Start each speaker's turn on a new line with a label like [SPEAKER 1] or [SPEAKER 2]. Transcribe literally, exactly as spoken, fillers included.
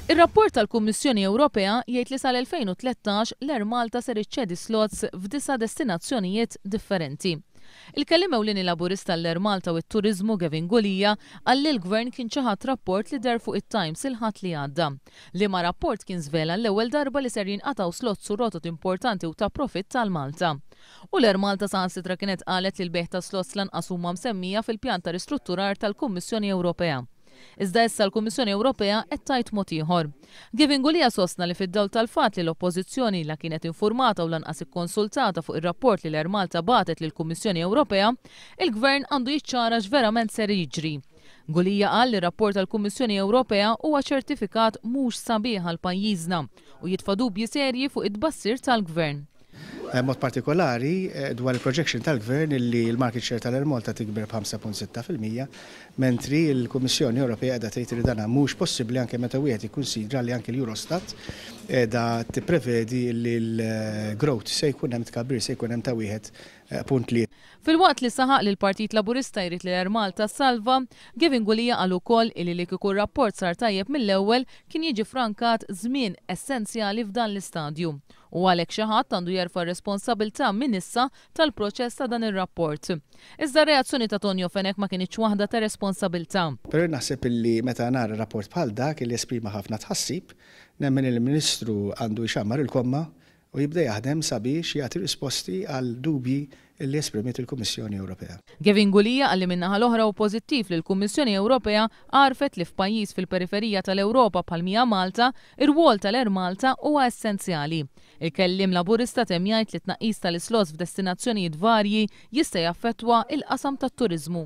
[SPEAKER 1] Ir-rapport tal-Kummissjoni Ewropea jgħid li sal-elfejn u tlettax l-Air Malta ser iċċedi slots f'disa' destinazzjonijiet differenti. Il-kelliem ewlieni Laburista l-Air Malta u t-Turiżmu Gavin Gulia qal li l-Gvern kien ċaħad rapport li deher fuq it-Times il-Ħadd li għadda. Liema rapport kien żvela l-ewwel darba li ser jinqatgħu slots u rotot importanti u ta' profitt għal Malta. U l-Air Malta saħansitra kienet qalet li l-bejgħ ta' slots lanqas huma msemmija fil-pjan ta' ristrutturar tal-Kummissjoni Ewropea. Iżda issa l-Kummissjoni Ewropea qed tgħid mod ieħor. Gavin Gulia sostna li fid-dawl tal-fatt li l-Oppożizzjoni la kienet informata u lanqas ikkonsultata fuq ir-rapport li l-Air Malta bagħtet lill-Kummissjoni Ewropea, il-Gvern għandu jiċċara x'verament ser jiġri. Gulia qal li r-rapport tal-Kummissjoni Ewropea huwa ċertifikat mhux sabiħ għal pajjiżna u jitfa' dubji serji fuq it-tbassir tal-Gvern.
[SPEAKER 2] Eh, mod partikolari, eh, dwar il-projection tal-Gvern illi l-market share tal-Air Malta tikber b'ħamsa punt sitta fil-mija, mentri l-Kummissjoni Ewropea qiegħda tgħid li dan mhux possibbli anke meta wieħed jikkunsidra li anke l-Eurostat qiegħda tipprevedi li l-growth se jkun hemm tkabbir se jkun hemm ta' wieħed, eh, punt li.
[SPEAKER 1] Filwaqt li saħaq li l-Partit Laburista jrid li l-Air Malta salva, Gavin Gulia qal ukoll illi li kieku r-rapport sar tajjeb mill-ewwel kien jiġi frankat żmien essenzjali f'dan l-istadju. U għalhekk xi ħadd għandu jerfa' r-responsabilità minn issa tal-proċess ta' dan ir-rapport. Iżda r-reazzjoni ta' Tonio Fenech ma kinitx waħda ta' responsabilità.
[SPEAKER 2] Però naħseb illi meta nara rapport bħal dak illi esprima ħafna tħassib, nemmen il-Ministru għandu jxammar il-komma u jibda jaħdem sabiex jagħti risposti għal dubji li esprimiet il-Kummissjoni Ewropea.
[SPEAKER 1] Gavin Gulia qal li min-naħa l-oħra hu pożittiv li l-Kummissjoni Ewropea għarfet li f'pajjiż fil-periferija tal-Ewropa bħal mija Malta, ir-rwol tal-Air Malta huwa essenzjali. Il-kelliem Laburista temm jgħid li tnaqqis tal-islots f'destinazzjonijiet varji jista' jaffettwa il-qasam tat-turiżmu.